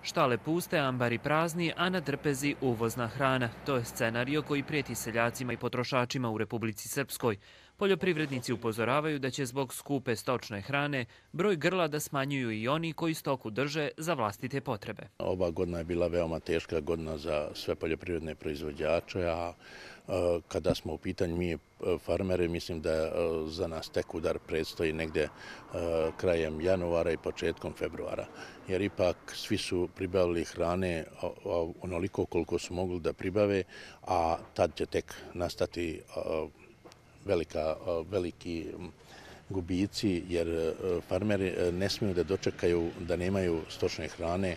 Štale puste, ambari prazni, a na trpezi uvozna hrana. To je scenario koji prijeti seljacima i potrošačima u Republici Srpskoj. Poljoprivrednici upozoravaju da će zbog skupe stočne hrane broj grla da smanjuju i oni koji stoku drže za vlastite potrebe. Ova godina je bila veoma teška godina za sve poljoprivredne proizvođače, a kada smo u pitanju mi farmeri, mislim da za nas tek udar predstoji negdje krajem januara i početkom februara. Jer ipak svi su pribavili hrane onoliko koliko su mogli da pribave, a tad će tek nastati veliki gubici, jer farmeri ne smiju da dočekaju da nemaju stočne hrane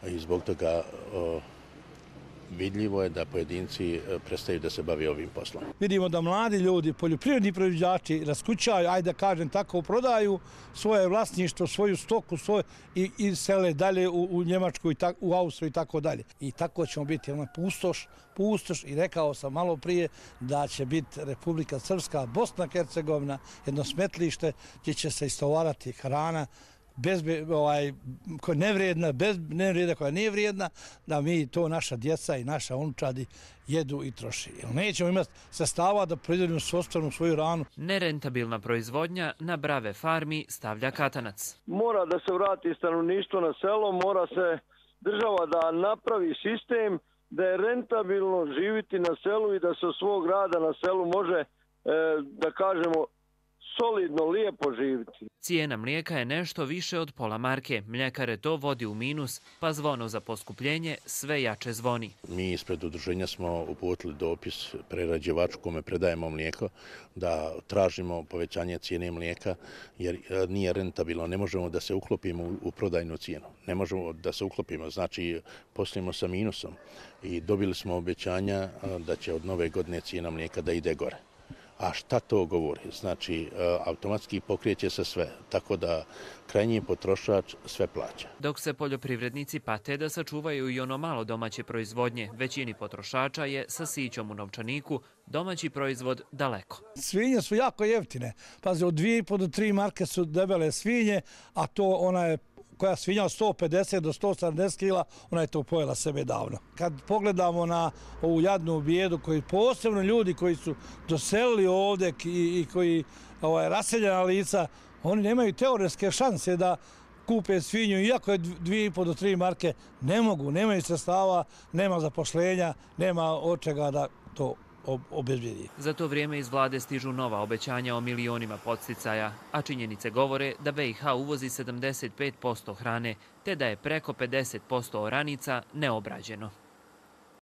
i zbog toga vidljivo je da pojedinci prestaju da se bave ovim poslom. Vidimo da mladi ljudi, poljoprivredni proizvođači raskućaju, ajde da kažem tako, prodaju svoje vlasništvo, svoju stoku i sele dalje u Njemačku, u Austriju i tako dalje. I tako ćemo biti pustoš i rekao sam malo prije da će biti Republika Srpska, Bosna i Hercegovina, jedno smetlište gdje će se istovarati hrana koja je nevrijedna, koja nije vrijedna, da mi to naša djeca i naša unučadi jedu i troši. Jer nećemo imati sredstava da proizvodimo svoju hranu. Nerentabilna proizvodnja na brave farmi stavlja katanac. Mora da se vrati stanovništvo na selo, mora se država da napravi sistem da je rentabilno živjeti na selu i da se od svog rada na selu može, da kažemo, solidno, lijepo živjeti. Cijena mlijeka je nešto više od pola marke. Mljekare to vodi u minus, pa zvono za poskupljenje sve jače zvoni. Mi ispred udruženja smo uputili dopis prerađivaču kome predajemo mlijeko da tražimo povećanje cijene mlijeka jer nije rentabilno. Ne možemo da se uklopimo u prodajnu cijenu. Ne možemo da se uklopimo, znači poslujemo sa minusom i dobili smo obećanja da će od nove godine cijena mlijeka da ide gore. A šta to govori? Znači, automatski pokrijeće se sve, tako da krajnji potrošač sve plaća. Dok se poljoprivrednici pate da sačuvaju i ono malo domaće proizvodnje, većini potrošača je sa sićom u novčaniku domaći proizvod daleko. Svinje su jako jeftine. Pazi, od 2,5 do 3 marke su debele svinje, a to ona je koja svinja od 150 do 170 kila, ona je to pojela sebe davno. Kad pogledamo na ovu jadnu bijedu, koji posebno ljudi koji su doselili ovdje i koji raseljena lica, oni nemaju teoretske šanse da kupe svinju, iako je 2,5 do 3 marke, ne mogu, nemaju sredstava, nema zaposlenja, nema od čega da to obezbijedi. Za to vrijeme iz vlade stižu nova obećanja o milionima podsticaja, a činjenice govore da BiH uvozi 75% hrane, te da je preko 50% oranica neobrađeno.